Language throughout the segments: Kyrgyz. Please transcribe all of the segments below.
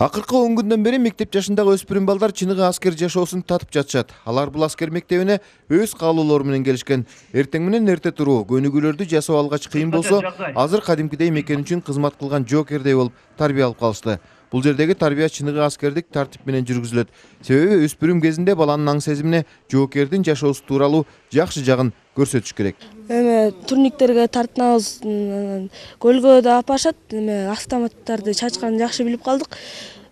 Акыркы 10 күндөн бери мектеп жашындагы өспүрүм балдар чыныгы аскер жашоосун татып жатышат. Алар бул аскер мектебине өз каалоолору менен келишкен. Эртең менен эрте туруу, көнүгүүлөрдү жасап алгач кыйын болсо, азыр кадимкидей мекен үчүн кызмат кылган жоокердей болуп тарбия алып калышты. Бул жердеги тарбия чыныгы аскердик тартип менен жүргүзүлөт. Себеби өспүрүм кезинде баланын аң сезимине жоокердин жашоосу тууралуу жакшы жагын көрсөтүш керек. Турниктерге тартынабыз, көлгө да алып барышат, автоматтарды чачканын жакшы билип калдык.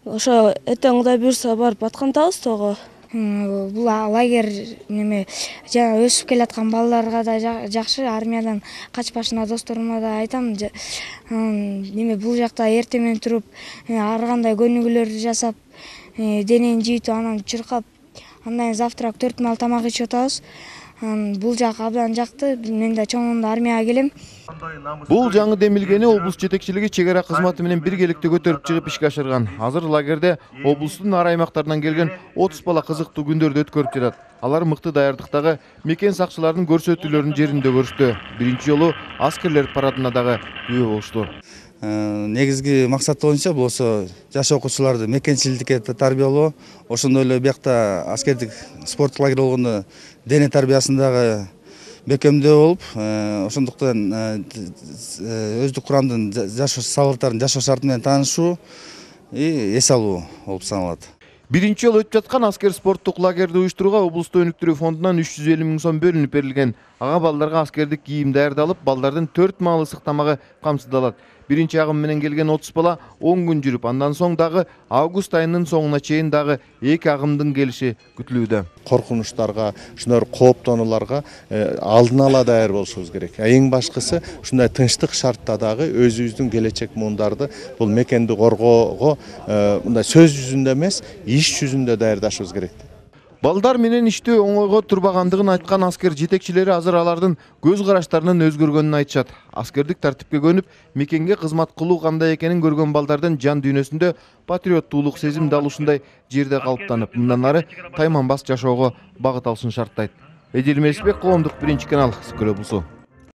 Ошо эртең Кудай буйрса барып аткантабыз тоо. Бул лагерь жана өсүп келаткан балдарга да жакшы, армиядан качпашына досторума да айтам. Бул жакта эртең менен туруп, ар кандай көнүгүүлөрдү жасап, денени жыйтып, анан чуркап, андан завтрак 4 маал тамак ичип атабыз. Бул жак абдан жакты. Мен да чоңунда армияга келем. Бул жаңы демилгени облус жетекчилиги чек ара кызматы менен биргеликте көтөрүп чыгып ишке ашырган. Азыр лагерде облустун ар аймактарынан келген 30 бала кызыктуу күндөрдү өткөрүп жатат. Алар мыкты даярдыктагы мекен сакчыларынын көрсөтүүлөрүн жеринде көрүштү. Биринчи жолу аскерлер парадына дагы күбө болушту. Негизги максат боюнча бул жаш окуучуларды мекенчилдикке тарбиялоо, ошондой эле биякта аскердик спорттук лагерь болгондо дене тарбиясындагы бекемдөө болуп, ошондуктан өздүк курамдын жашоо салыптарын, жашоо шарты менен таанышуу эс алуу болуп саналат. Биринчи жолу өтүп жаткан аскер спорттук лагерди уюштурууга облусту өнүктүрүү фондунан 350 000 сом бөлүнүп берилген. Ага балдарга аскердик кийим даярдалып, балдардын 4 маал ысык тамагы камсыздалат. Биринчи агым менен келген 30 бала 10 күн жүрүп, андан соң дагы август айынын соңуна чейин дагы 2 агымдын келиши күтүлүүдө. Коркунучтарга, ушундай кооптонууларга алдын ала даяр болушубуз керек. Эң башкысы ушундай тынчтык шартта дагы өзүбүздүн келечек муундарды бул мекенди коргоого мындай сөз жүзүндө эмес, иш жүзүндө даярдашыбыз керек. Балдар менен иштөө оңойго турбагандыгын айткан аскер жетекчилери азыр алардын көз караштарынын өзгөргөнүн айтышат. Аскердик тартипке көнүп, мекенге кызмат кылуу кандай экенин көргөн балдардын жан дүйнөсүндө патриоттуулук сезим дал ушундай жерде калыптанып, мындан ары тайманбас жашоого багыт алышын шарттайт. Эдил Месбек, Коомдук биринчи канал, Скөл облусу.